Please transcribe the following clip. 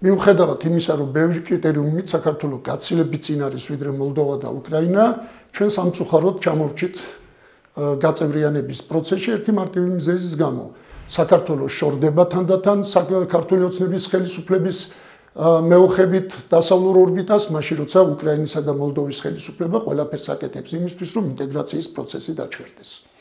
მიუხედავად იმისა, რომ ბევრი კრიტერიუმით საქართველოს გაცილებით წინ არის ვიდრე მოლდოვა და უკრაინა, ჩვენ სამწუხაროდ ჩამორჩით გაწევრიანების პროცესში ერთი მარტივი მიზეზის გამო. საქართველოს შორდება თანდათან ქართული ოცნების ხელისუფლების მეოხებით დასავლურ ორბიტას, მაშინ როცა უკრაინისა და მოლდოვის ხელისუფლება ყველაფერს აკეთებს იმისთვის, რომ ინტეგრაციის პროცესი დაჩერდეს.